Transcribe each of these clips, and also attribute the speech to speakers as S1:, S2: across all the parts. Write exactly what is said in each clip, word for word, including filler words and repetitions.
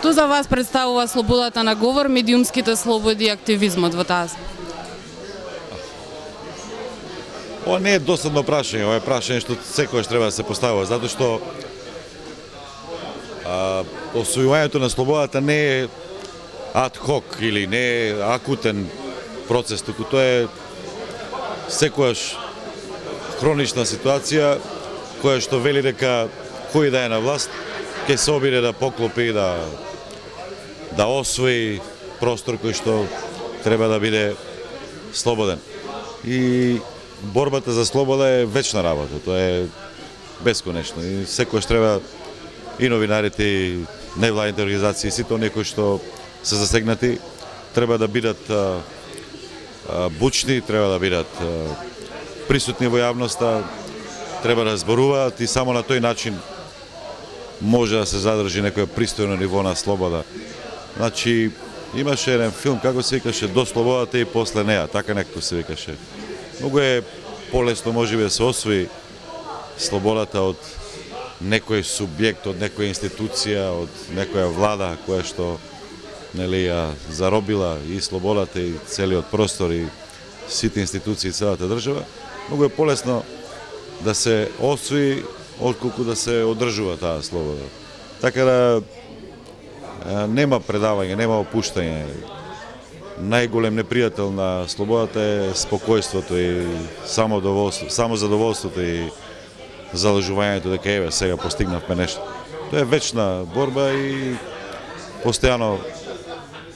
S1: Што за вас представува слободата на говор, медиумските слободи и активизмот во таа?
S2: Ова не е досадно прашање, ова е прашање што секогаш треба да се поставува, затоа што а, освојувањето на слободата не е ад хок или не е акутен процес, туку тоа е секогаш хронична ситуација која што вели дека кој да е на власт ќе се обиде да поклопи, да да освои простор кој што треба да биде слободен. И борбата за слобода е вечна работа, тоа е бесконечно и секогаш треба и новинарите и невладните организации, сите оние кои што се засегнати, треба да бидат а, а, бучни, треба да бидат а, присутни во јавноста, треба да зборуваат и само на тој начин може да се задржи некој пристојно ниво на слобода. Значи, имаше еден филм, како се викаше, До слободата и после неа, така некако се викаше. Многу е полесно можеби да се освои слободата од некој субјект, од некоја институција, од некоја влада која што нели ја заробила и слободата и целиот простор и сите институции и целата држава. Многу е полесно да се освои отколку да се одржува таа слобода. Така да нема предавање, нема опуштање. Најголем непријател на слободата е спокојството и самодоволство, само задоволството и залажувањето дека еве сега постигнавме нешто. Тоа е вечна борба и постојано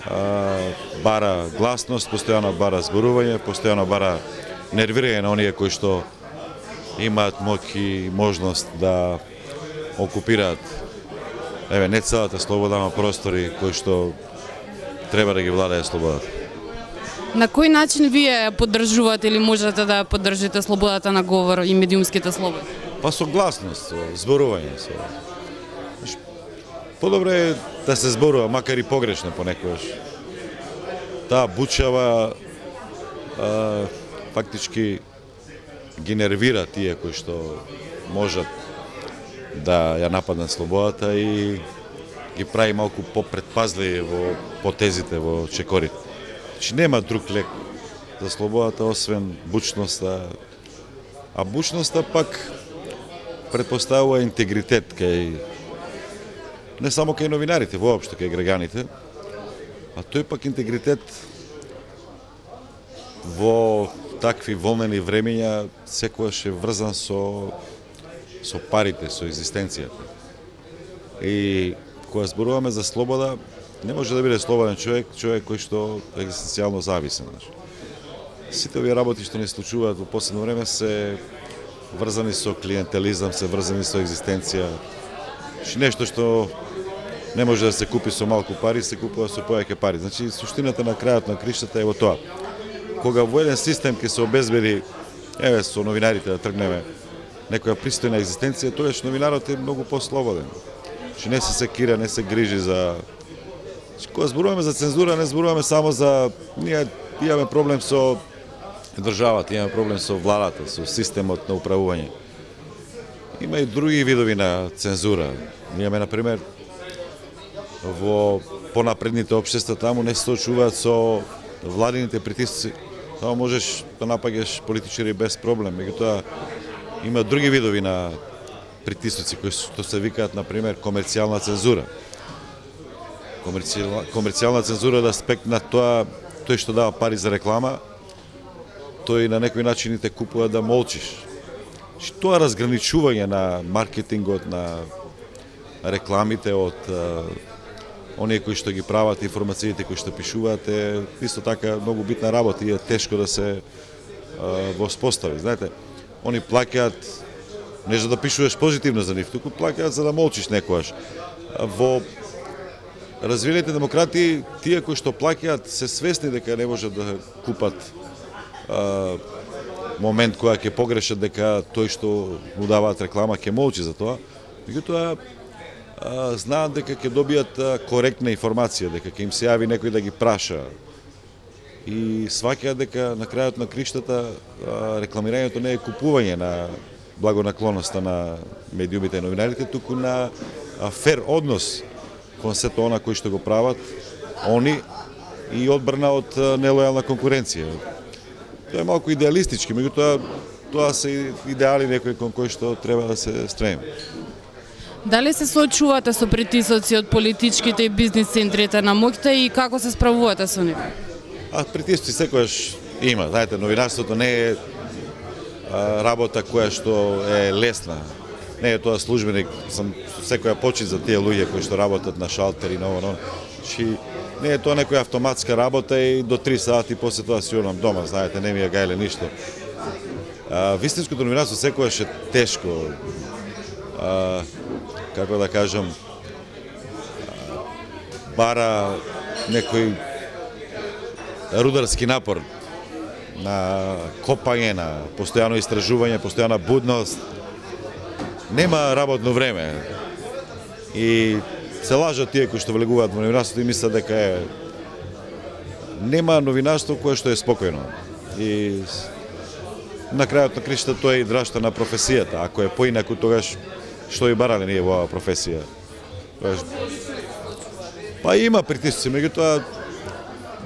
S2: а, бара гласност, постојано бара зборување, постојано бара нервирање на оние кои што имаат моќ и можност да окупираат еве не целата слобода, но простори кои што треба да ги владее слободата.
S1: На кој начин вие ја поддржувате или можете да ја поддржите слободата на говор и медиумските слободи?
S2: Па со гласност, со зборување. Со... Подобро е да се зборува, макар и погрешно понекогаш. Таа бучава а, фактички ги нервира тие кои што можат да ја нападнат слободата и ги прави малку попредпазливи во потезите, во чекорите. Значи нема друг лек за слободата освен бучноста, а бучноста пак предпоставува интегритет кај не само кај новинарите, воопшто кај граѓаните, а тој пак интегритет во такви волнени времења секогаш е врзан со со парите, со екзистенцијата. И кога зборуваме за слобода, не може да биде слободен човек, човек кој што е екзистенцијално зависен. Сите овие работи што ни случуваат во последно време се врзани со клиентелизам, се врзани со екзистенција. Нешто што не може да се купи со малку пари, се купува со повеќе пари. Значи, суштината на крајот на криштата е во тоа. Кога во еден систем ќе се обезбеди, еве со новинарите да тргнеме, некоја пристојна екзистенција, тогаш новинарот е многу послободен. Значи, не се секира, не се грижи за... Кога зборуваме за цензура, не зборуваме само за... Ние имаме проблем со државата, имаме проблем со владата, со системот на управување. Има и други видови на цензура. Имаме, например, во понапредните општества, таму не се соочуваат со владините притисци. Таму можеш да напаѓаш политичари без проблем. Меѓутоа, има други видови на притисоци кои што се викаат, например, комерцијална цензура. Комерцијална, комерцијална цензура да аспект на тоа, тој што дава пари за реклама, тој на некој начин те купува да молчиш. Тоа разграничување на маркетингот, на рекламите од а, оние кои што ги прават, информациите кои што пишуваат, е исто така многу битна работа и е тешко да се а, воспостави. Знаете, они плаќаат не за да пишуваш позитивно за нив, туку плаќаат за да молчиш некојаш. Во развиените демократии, тие кои што плаќаат се свесни дека не можат да купат а, момент која ќе погрешат дека тој што му даваат реклама ќе молчи за тоа, меѓутоа знаат дека ќе добијат коректна информација, дека ќе им се јави некој да ги праша. И сваќаат дека на крајот на криштата рекламирањето не е купување на благонаклоноста на медиумите и новинарите, туку на фер однос кон сето она кои што го прават они и одбрана од нелојална конкуренција. Тоа е малку идеалистички, меѓутоа тоа се идеали некои кон кои што треба да се стремиме.
S1: Дали се соочувате со притисоци од политичките и бизнис центрите на моќта и како се справувате со нив?
S2: А притисоци секогаш има. Знаете, новинарството не е а, работа која што е лесна. Не е тоа службеник, сам секоја почит за тие луѓе кои што работат на шалтери, на ово, Чи не е тоа некоја автоматска работа и до три сати после тоа си одам дома, знаете, не ми е гајле ништо. А, вистинското новинарство секогаш е тешко. А, како да кажам, а, бара некој рударски напор на копање, на постојано истражување, постојана будност. Нема работно време. И се лажат тие кои што влегуваат во новинарството и мислат дека е нема новинарство кое што е спокојно. И на крајот на кришта тоа е и драшта на професијата. Ако е поинаку, тогаш што и барале ние во оваа професија. Тогаш... Па има притисци, меѓутоа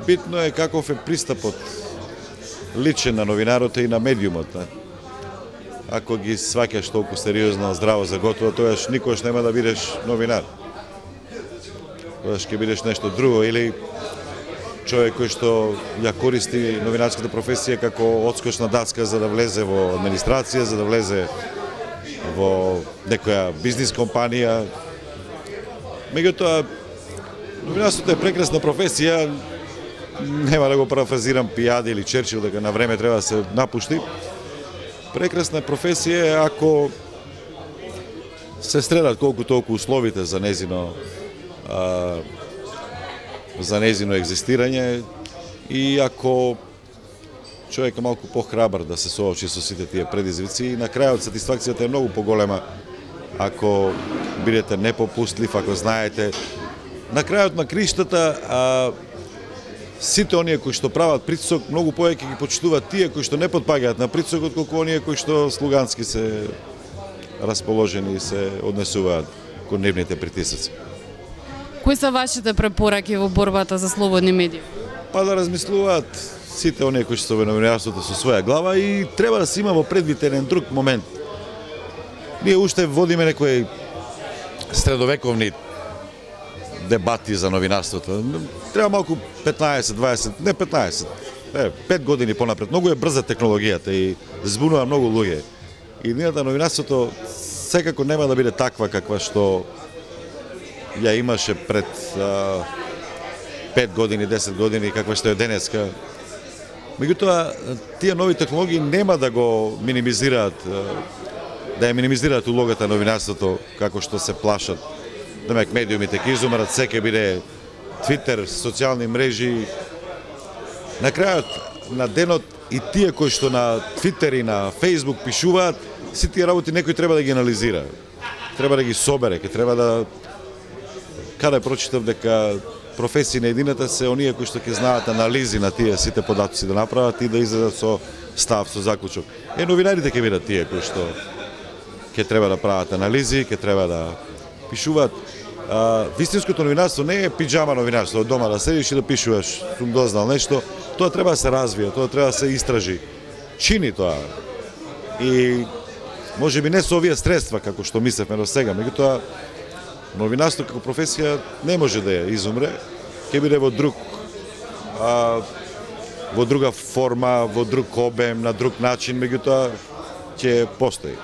S2: битно е каков е пристапот личен на новинарот и на медиумот. Ако ги сваќаш толку сериозно, здраво за готово, тогаш никош нема да бидеш новинар. Тогаш ќе бидеш нешто друго или човек кој што ја користи новинарската професија како одскочна даска за да влезе во администрација, за да влезе во некоја бизнис компанија. Меѓутоа, новинарството е прекрасна професија, нема да го парафразирам Пијади или Черчил дека на време треба да се напушти. Прекрасна професија е ако се средат колку толку условите за незино а, за незино екзистирање и ако човек е малку похрабар да се соочи со сите тие предизвици и на крајот сатисфакцијата е многу поголема ако бидете непопустлив, ако знаете. На крајот на криштата а, сите оние кои што прават притисок многу повеќе ги почитуваат тие кои што не потпаѓаат на притисок отколку оние кои што слугански се расположени и се однесуваат кон нивните притисоци.
S1: Кои се вашите препораки во борбата за слободни медии?
S2: Па да размислуваат сите оние кои што се во новинарството со своја глава и треба да се има во предвид еден друг момент. Ние уште водиме некои средовековни дебати за новинарството. Треба малку петнаесет, дваесет, не петнаесет, е, пет години понапред. Многу е брза технологијата и збунува многу луѓе. И нијата новинарството секако нема да биде таква каква што ја имаше пред а, пет години, десет години, каква што е денеска. Меѓутоа, тие нови технологии нема да го минимизираат, да ја минимизираат улогата на новинарството како што се плашат. Демек, медиумите ќе изумрат, секе биде Твитер, социјални мрежи. На крајот на денот и тие кои што на Твитер и на Фејсбук пишуваат, си тие работи некој треба да ги анализира. Треба да ги собере, ќе треба да... Каде прочитав дека професии на едината се оние кои што ќе знаат анализи на тие сите податоци да направат и да излезат со став, со заклучок. Е, новинарите ќе бидат тие кои што ќе треба да прават анализи, ќе треба да пишуваат. А, вистинското новинарство не е пиџама новинарство, од дома да седиш и да пишуваш, сум дознал нешто, тоа треба да се развие, тоа треба да се истражи. Чини тоа. И може би не со овие средства како што мислевме до сега, меѓутоа новинарство како професија не може да ја изумре, ќе биде во друг а, во друга форма, во друг обем, на друг начин, меѓутоа ќе постои.